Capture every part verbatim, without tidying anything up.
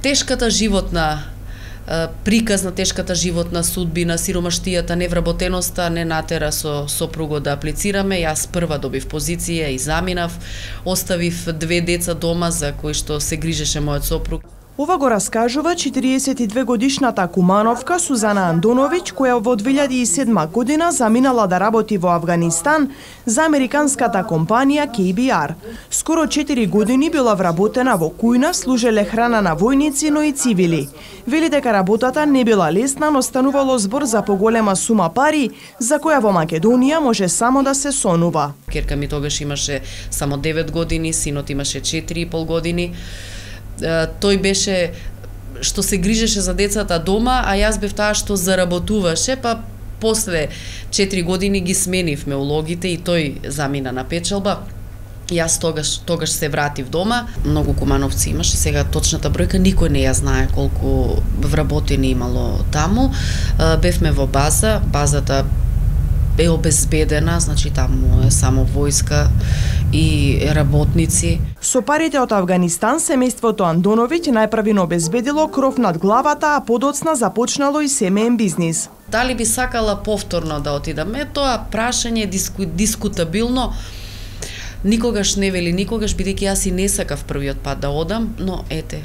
тешката животна приказ на тешката животна судбина, сиромаштијата, невработеноста не натера со сопругот да аплицираме. Јас прва добив позиција и заминав, оставив две деца дома за кои што се грижеше мојот сопруг. Ова го раскажува четириесет и две годишната кумановка Сузана Андоновиќ, која во две илјади и седма година заминала да работи во Авганистан за американската компанија Кей Би Ар. Скоро четири години била вработена во кујна, служеле храна на војници, но и цивили. Вели дека работата не била лесна, но станувало збор за поголема сума пари, за која во Македонија може само да се сонува. Керка ми тогаш имаше само девет години, синот имаше четири и пол години. Тој беше што се грижеше за децата дома, а јас бев таа што заработуваше, па после четири години ги сменивме улогите и тој замина на печалба. Јас тогаш тогаш се вратив дома. Многу кумановци имаше, сега точната бројка никој не ја знае колку вработени имало таму. Бевме во база, базата е обезбедена, значи таму е само војска и работници. Со парите од Авганистан, семејството Андоновиќ најправино обезбедило кров над главата, а подоцна започнало и семеен бизнис. Дали би сакала повторно да отидам? Е, тоа прашање е диску, дискутабилно. Никогаш не вели никогаш, бидејќи јас и не сакав првиот пат да одам, но ете,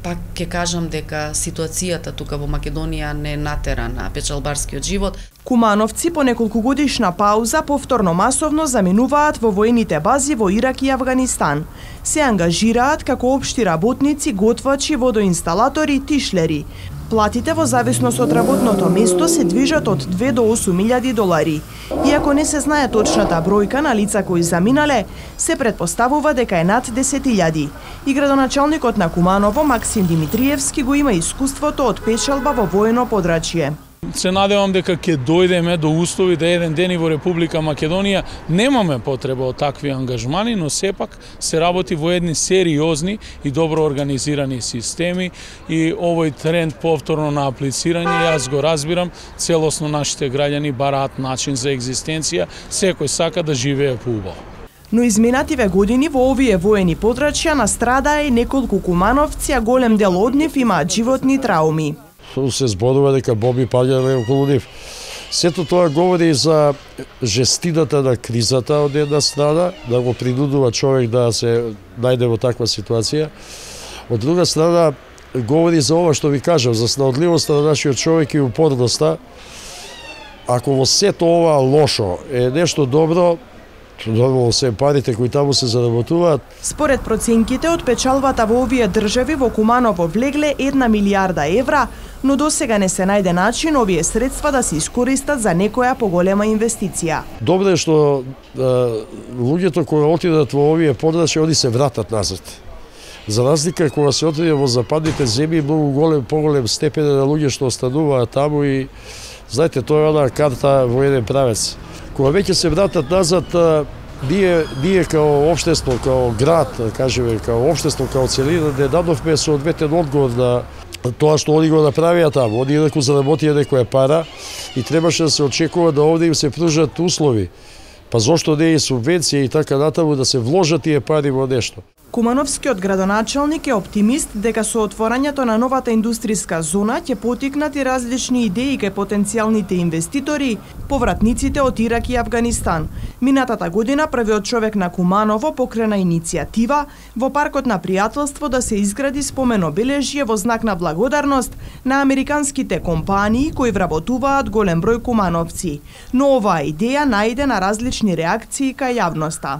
пак ќе кажам дека ситуацијата тука во Македонија не натера на печалбарскиот живот. Кумановци по неколку годишна пауза повторно масовно заминуваат во воените бази во Ирак и Авганистан. Се ангажираат како општи работници, готвачи, водоинсталатори, тишлери. Платите во зависност од работното место се движат од две до осум илјади долари. Иако не се знае точната бројка на лица кои заминале, се предпоставува дека е над десет илјади. И градоначалникот на Куманово, Максим Димитриевски, го има искуството од печалба во воено подрачје. Се надевам дека ќе дојдеме до услови да еден ден и во Република Македонија немаме потреба од такви ангажмани, но сепак се работи во едни сериозни и добро организирани системи и овој тренд повторно на аплицирање, јас го разбирам, целосно нашите граѓани бараат начин за екзистенција, секој сака да живее поубаво. Но изминативе години во овие воени подрачја настрадаа и неколку кумановци, а голем дел од нив имаат животни трауми. Се зборува дека боби паѓале околу нив. Сето тоа говори за жестината на кризата од една страна, да го принудува човек да се најде во таква ситуација. Од друга страна, говори за ова што ви кажав, за снаодливоста на нашиот човек и упорноста. Ако во сето ова лошо е нешто добро, нормално се парите кои таму се заработуваат. Според проценките од печалбата во овие држави во Куманово влегле една милијарда евра, но досега не се најде начин овие средства да се искористат за некоја поголема инвестиција. Добро е што е, луѓето кои отидат во овие подрачја, они се вратат назад. За разлика кога се отиде во западните земји, многу голем, поголем степен на луѓе што остануваат таму и знаете, тоа е она карта во еден правец. Кога веќе се вратат назад, ние, ние као општество, као град, кажеме, као општество, као целина, не дадовме соодветен одговор на тоа што они го направија таму. Они инаку заработија некоја пара и требаше да се очекува да овде им се пружат услови. Па зошто не и субвенција и така натаму да се вложат тие пари во нешто. Кумановскиот градоначалник е оптимист дека со отворањето на новата индустријска зона ќе потикнат и различни идеи кај потенцијалните инвеститори, повратниците од Ирак и Авганистан. Минатата година првиот човек на Куманово покрена иницијатива во паркот на пријателство да се изгради спомен обележје во знак на благодарност на американските компании кои вработуваат голем број кумановци. Но оваа идеја најде на различни реакции кај јавноста.